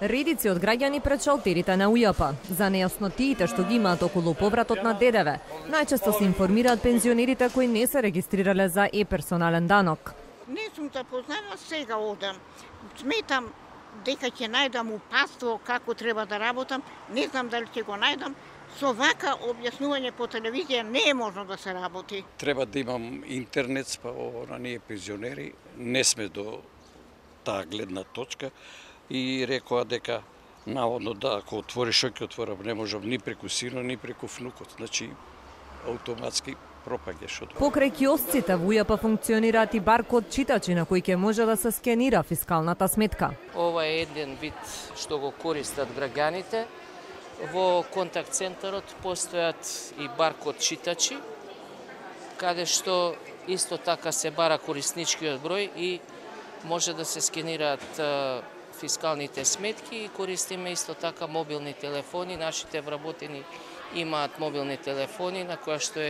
Редици од граѓани пред шалтерите на УЈП за нејаснотиите што ги имаат околу повратот на ДДВ. Најчесто се информираат пензионерите кои не се регистрирале за персонален данок. Не сум запознана, сега одам. Сметам дека ќе најдам упатство како треба да работам, не знам дали ќе го најдам. Со вака објаснување по телевизија не е можно да се работи. Треба да имам интернет, па ние пензионери не сме до таа гледна точка и рекоа дека наводно да, ако отвориш оке отворам, не можам ни преку сино, ни преку внукот. Значи, автоматски пропаѓаш од. Покрај киосците во УЈП функционираат и баркод читачи на кои ќе може да се скенира фискалната сметка. Ова е еден вид што го користат граѓаните. Во контакт центарот постојат и баркод читачи, каде што исто така се бара корисничкиот број и може да се скенираат фискалните сметки и користиме исто така мобилни телефони. Нашите вработени имаат мобилни телефони на која што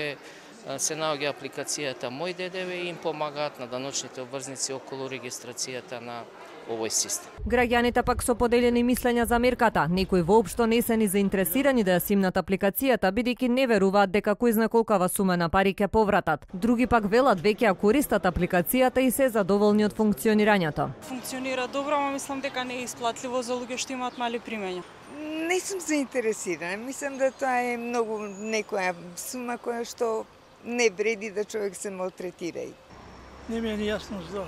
се наоѓа апликацијата Мој ДДВ и им помагаат на даночните обврзници околу регистрацијата на овој систем. Граѓаните пак со поделени мислења за мерката. Некои воопшто не се ни заинтересирани да ја симнат апликацијата, бидејќи не веруваат дека кој знае колкава сума на пари ќе повратат. Други пак велат веќе ја користат апликацијата и се задоволни од функционирањето. Функционира добро, ама мислам дека не е исплатливо за луѓе што имаат мали примања. Не сум заинтересирана. Мислам да тоа е многу некоја сума која што не вреди да човек се малтретира. Не ми е јасно за.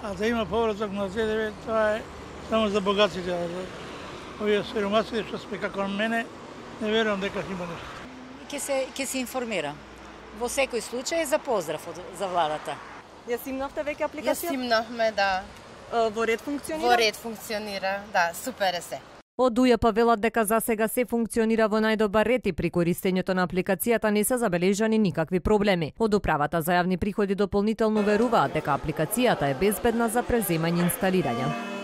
А да има повраток на ДДВ, тоа е само за богатите. Овие сиромасите што сме како мене, не верувам дека има нешто. Ќе се информира. Во секој случај за поздрав за владата. Ја симнавте веќе апликација? Ја симнавме, да. Во ред функционира? Во ред функционира, да, супер е се. Од УЈП велат дека за сега се функционира во најдобар ред и при користењето на апликацијата не се забележани никакви проблеми. Од управата за јавни приходи дополнително веруваат дека апликацијата е безбедна за преземање и инсталирање.